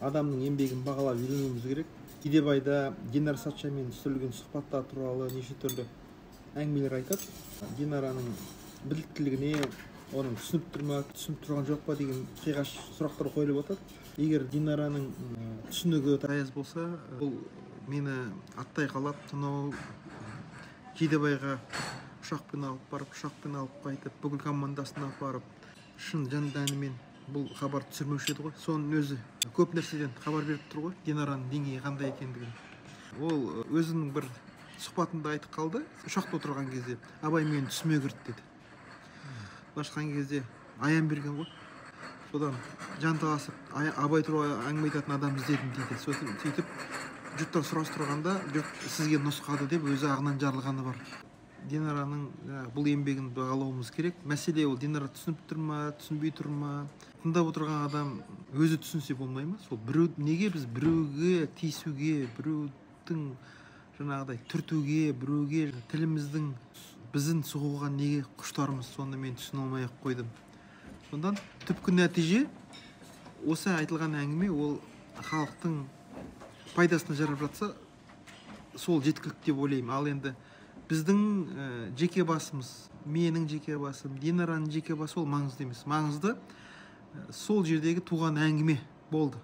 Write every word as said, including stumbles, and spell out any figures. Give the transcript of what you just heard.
адамның еңбегін бағалап үйренуіміз керек. Жидебайда Динара Сатчамен түсірілген сұхбаттар туралы неше түрлі әңгімелер айтады. Динараның біліктілігіне, оның түсініп тұр ма, түсініп тұрған жоқ па деген қиғаш сұрақтар қойылып отыр. Егер Динараның түсінігі таяз болса, бұл мені аттай қалап, тұнау Жидебайға ұшақпен алып барып, ұшақпен алып қайтып, бүкіл командасына барып, шын жан-тәнімен бұл хабар түсірмеуші еді ғой. Соның өзі көп нәрседен хабар беріп тұр ғой, Динараның деңгейі қандай екендігін. Ол өзінің бір сұхбатында айтып қалды, ұшақта отырған кезде, абай мені түсіме кірді деді. Былайша айтқан кезде аян берген ғой. Содан жанталасып, абай туралы әңгіме айтатын адам іздедім дейді. Сөйтіп жұрттан сұрастырғанда, жұрт сізге нұсқады деп өзі ағынан жарылғаны бар. Динараның бұл еңбегін бағалауымыз керек. Мәселе ол Динара түсініп тұр ма, түсінбей тұр ма? Тыңдап отырған адам өзі түсінсе болмай ма? Сол біреу, неге біз біреуге тиісуге, біреудің жаңағыдай түртуге, біреуге тіліміздің біздің сұғуға неге құштармыз? Соны мен түсіне алмай ақ қойдым. Сондан түпкі нәтиже осы айтылған әңгіме ол халықтың пайдасына жарап жатса, сол жеткілікті деп ойлаймын. Ал енді біздің ә, жеке басымыз, менің жеке басым, Динараның жеке басы ол маңызды емес. Маңызды ә, сол жердегі туған әңгіме болды.